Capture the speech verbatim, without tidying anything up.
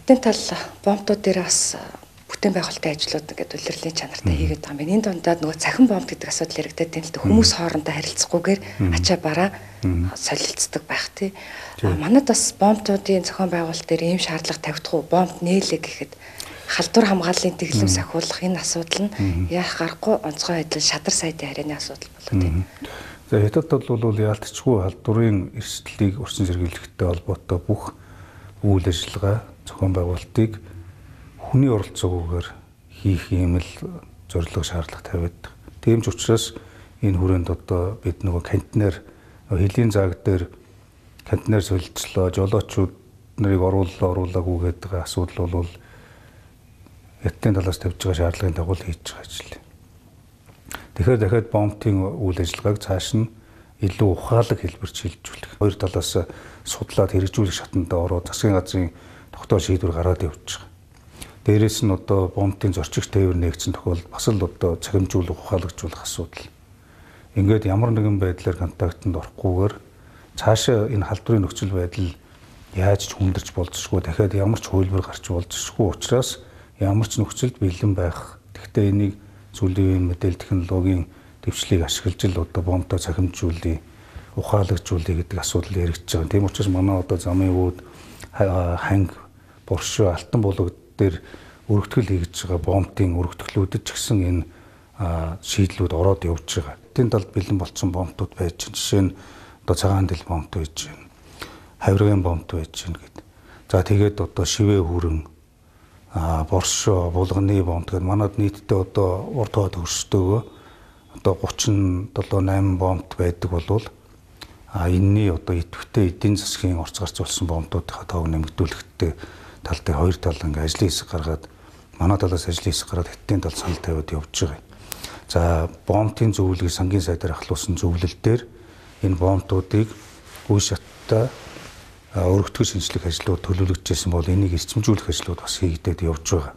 Хятадын тал бомбтууд дээр бас бүтээн байгуулалтын ажлууд гэдэг улирлын чанартай хийгээд байгаа юм. Энэ дундаад нөгөө цахим бомб гэдэг асуудал яригдаад тийм л дээ хүмүүс хоорондоо харилцахгүйгээр ачаа бараа солилцдог байх тий. Манайд бас бомбтуудын зохион байгуулалт дээр ийм шаардлага тавьдах уу? Бомб нээлээ гэхэд халдвар хамгааллын тэглэм сахиулах энэ асуудал нь яах гарахгүй онцгой адил шадар сайдын харьяаны асуудал болоо тийм. За Хятадд бол яалтчгүй халдварын эрсдлийг урьдчилан сэргийлэхтэй холбоотой бүх үйл ажиллагаа зохион байгуулалтыг хүний оролцоогүйгээр хийх юм л зорилго шаардлага тавиад. Тийм ч учраас энэ хүрээнд одоо бид нөгөө контейнер хэлийн зааг дээр контейнер солилцлоо, жолоочууд нарыг орууллаа, оруулаагүй гэдэг асуудал бол Хятадын талаас тавьж байгаа шаардлагын дагуу хийж байгаа ажил. Тэгэхээр дахиад бомбын үйл ажиллагааг цааш нь илүү ухаалаг хэлбэр шилжүүлэх. Хоёр талаас судлаад хэрэгжүүлэх шатанд ороод засгийн газрын тогтоол шийдвэр гараад явж байгаа. Дээрээс нь одоо бомбын зорчигч тээвэр нэгдсэн тохиолдолд бас л одоо цахимжуулах, ухаалагжуулах асуудал. Ингээд ямар нэгэн байдлаар контактанд орохгүйгээр цаашаа энэ халдварын нөхцөл байдал яаж ч хүндэрч болзошгүй, дахиад ямар ч хөвлөр гарч болзошгүй учраас ямар ч нөхцөлд бэлэн байх. Гэхдээ энийг зүйлийн мэдээлэл технологийн дэвшлийг ашиглаж л одоо бомбтой цахимжуулъя, ухаалагжуулъя гэдэг асуудал яригдж байгаа. Тийм учраас манай одоо замын үүд, ханг, боршоо, алтан булаг дээр өргөтгөл хийж байгаа бомбын өргөтгөлүүдэд ч гэсэн энэ шийдлүүд ороод явж байгаа. Тэн талд бэлэн болсон бомбтууд байж чинь жишээ нь одоо цагаан дэл бомбт байж байна. Хавиргын бомбт байж байна гэдэг. За тэгээд одоо шивээ хүрэн а боршоо, булганы бомб гэдэг манад нийтдээ одоо урд хойд хөрстөөгөө одоо гучин долоо найман бомбт байдаг болвол а энэний одоо идэвхтэй эдийн засгийн орц гарч болсон бомбтуудынхаа тоог нэмэгдүүлэхтэй тал дээр хоёр тал ингээ ажлын хэсэг гаргаад манай талаас ажлын хэсэг гараад Хятадын тал санал тавиад явж байгаа. За бомбын зөвлөгөө сангийн сайдаар ахлуулсан зөвлөл дээр энэ бомбтуудыг үе шаттай өргөтгөл шинжлэх ажлууд төлөвлөгдөжсэн бол энийг эрчимжүүлэх ажлууд бас хийгдээд явж байгаа.